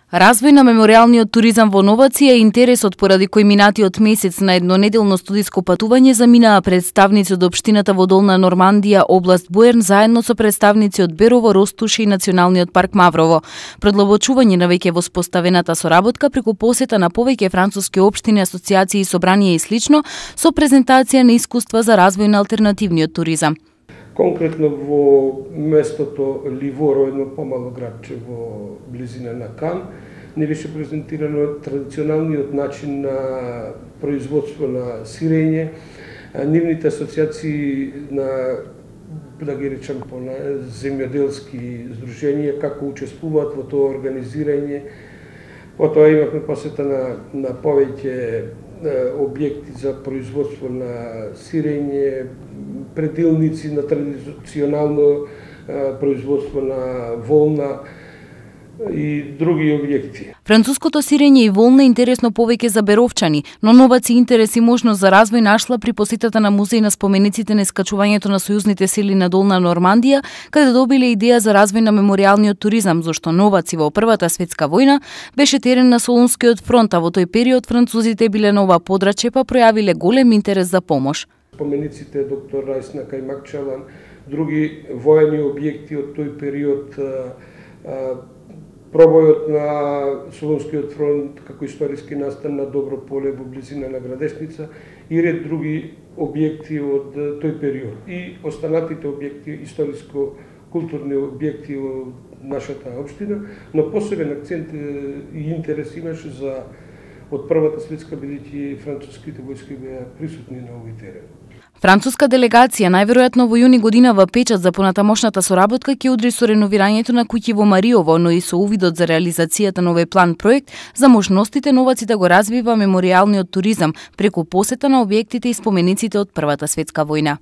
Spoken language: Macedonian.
Развој на меморијалниот туризам во Новаци е интересот поради кој минатиот месец на еднонеделно студиско патување заминаа представници од општината во Долна Нормандија, област Буерн, заедно со представници од Берово, Ростуш и Националниот парк Маврово. Продлабочување на веќе воспоставената соработка преку посета на повеќе француски општини, асоциации, собранија и слично, со презентација на искуства за развој на алтернативниот туризам. Конкретно во местото Ливоро, едно помало градче во близина на Кан, не беше презентирано традиционалниот начин на производство на сирење, нивните асоциации на, да ги речам, земјоделски здруженија, како учествуваат во тоа организирање. Потоа имавме посета на повеќе објекти за производство на сирење, предилници на традиционално производство на волна и други објекти. Француското сирење и волна е интересно повеќе за беровчани, но Новаци интерес и можност за развој нашла при посетата на музеј на спомениците на искачувањето на сојузните сили на Долна Нормандија, каде добиле идеја за развој на меморијалниот туризам, зашто Новаци во Првата светска војна беше терен на Солунскиот фронт, а во тој период французите биле на ова подрачје па пројавиле голем интерес за помош. Спомениците доктор Рајс на Кајмакчалан, други воени објекти од тој период, пробојот на Солунскиот фронт како историски настан на Добро поле во близина на Градешница и ред други објекти од тој период. И останатите објекти, историско-културни објекти од нашата општина, но посебен акцент и интерес имаше за од Првата светска, бидејќи француските војски беа присутни на овој терен. Француска делегација најверојатно во јуни годинава печат за понатамошната соработка ќе удри со реновирањето на куќи во Мариово, но и со увидот за реализацијата на овој план проект за можностите Новаци да го развива меморијалниот туризам преку посета на објектите и спомениците од Првата светска војна.